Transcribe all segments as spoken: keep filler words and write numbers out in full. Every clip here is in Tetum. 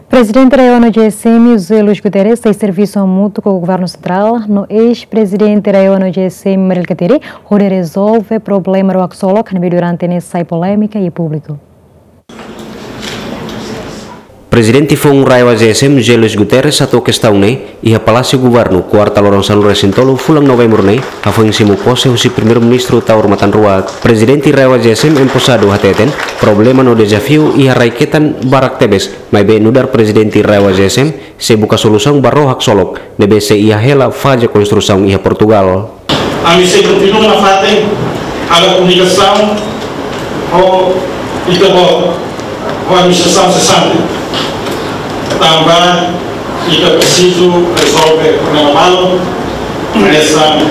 Prezidente RAEOA no GSM, José Luis Guterres, sei servisu hamutuk ho Governu Sentrál no eis-prezidente RAEOA no GSM, Mari Alkatiri, hodi rezolve problema rua haksolok ne'ebé durante ne'e sai polémika iha públiku. Prezidente foun RAEOA GSM, José Luis Guterres, hato'o kestaun ne'e iha Palásiu Governu, kuarta loron sanulu-resin-tolu fulan Novembru ne'e, hafoin simu pose husi Primeiru-Ministru Taur Matan Ruak. Prezidente RAEOA GSM emposadu hateten, problema no dezafiu iha rai-ketan barak tebes, maibé nu'udar prezidente RAEOA GSM, sei buka solusaun ba rua haksolok ne'ebé sei iha hela faze konstrusaun iha Portugal. Ami sei kontinua nafatin halo komunikasaun ho ita-boot, ho administrasaun sesante. Tanba ita presiza rezolve problema balu, hanesan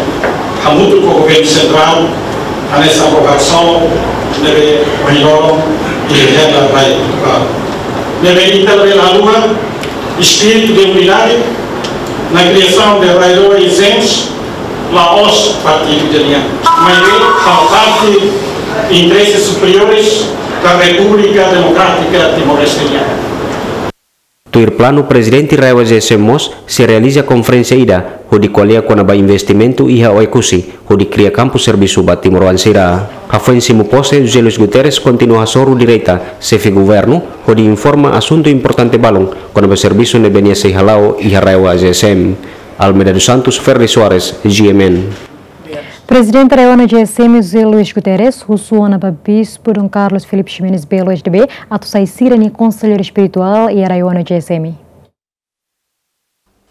hamutuk ho Governu Sentrál, hanesan rua haksolok ne'ebé ohin loron iha hela rai Portugal. Ne'ebé ita labele haluha espíritu de unidade na criação de RAEOA e GSM, la'ós partidu ida nian, maibé halo parte interese superiores da República Democrática Timor-Leste nian. Tuir planu, prezidente RAEOA GSM mós sei realiza konferénsia ida hodi ko'alia kona-ba investimentu iha Oekusi, hodi kria kampu servisu ba timoroan sira. Hafoin simu pose, José Luis Guterres kontinua hasoru direta xefe governu hodi informa asuntu importante balun kona-ba servisu ne'ebé nia sei hala'o iha RAEOA GSM. Almeida dos Santos, Ferdi Soares, GMN. Prezidente RAEOA no GSM, José Luis Guterres, husu ona ba Bispu Dom Carlos Filipe Ximenes Belo, S D B, atu sai sira-nia konselleiru espirituál iha RAEOA no GSM.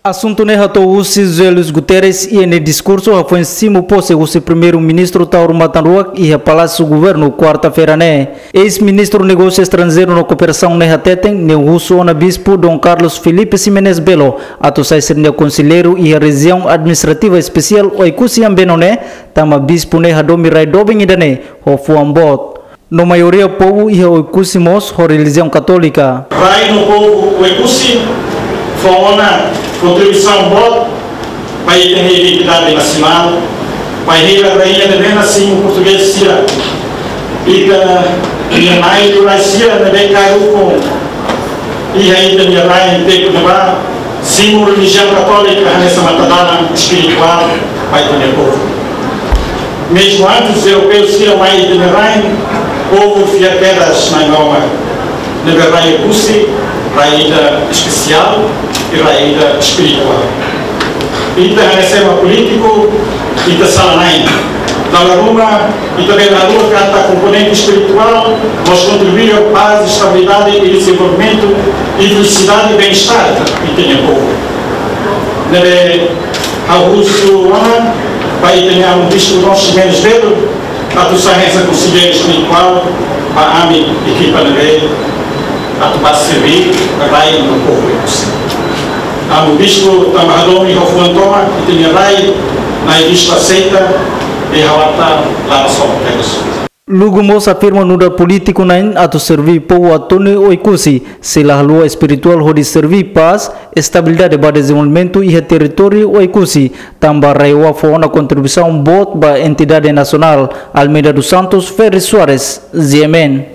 Asuntu ne'e hato'o husi José Luis Guterres iha nia diskursu hafoin simu pose husi Primeiru-Ministru Taur Matan Ruak iha Palásiu Governu, kuarta-feira ne'e. Eis-Ministru Negósiu Estranjeiru no Kooperasaun ne'e hateten, nia husu ona Bispu Dom Carlos Filipe Ximenes Belo atu sai sira-nia konselleiru iha Rejiaun Administrativa Espesiál Oekusi Ambeno ne'e, tanba bispu ne'e hadomi rai doben ida-ne'e ho fuan boot. No maioria povu iha Oekusi mós ho relijiaun katólika. Rai no povu Oekusi fó ona kontribuisaun boot ba ita-nia identidade nasionál, bainhira rainha ne'ebé simu portugés sira, ita-nia nai-tuan sira ne'ebé kaer ukun iha ita-nia rain tempu ne'ebá, simu relijiaun katólika hanesan matadalan espirituál ba ita-nia povu. Mezmu antes europeu sira mai ita-nia rain, povu fiar kedas Nai Maromak. Ne'ebé rai Oekusi, rai ida espesiál i rai ida espirituál. Ita hanesan ema polítiku, ita sala-na'in. Dala ruma, ita bele haluha katak komponente espirituál mós kontribui ba pás, estabilidade i dezenvolvimentu i felisidade i bem-estar ita-nia povu. Ne'ebé ha'u husu ona ba ita-nia amu Bispu Dom Ximenes Belo atu sai hanesan konselleiru espirituál ba ami ekipa ne'ebé atu bá serví rai no povu Oekusi. Amu Bispu, tanba hadomi ho fuan tomak ita-nia rai, Nai Bispu aseita, i ha'u ata laba só tegas. Lugu mós afirma nu'udar polítiku na'in atu serví povu Atoni Oekusi, sei la haluha espirituál hodi serví pás, estabilidade ba dezenvolvimentu iha territóriu Oekusi, tanba RAEOA fó ona kontribuisaun boot ba entidade nasionál. Almeida dos Santos, Ferri Soares, GMN.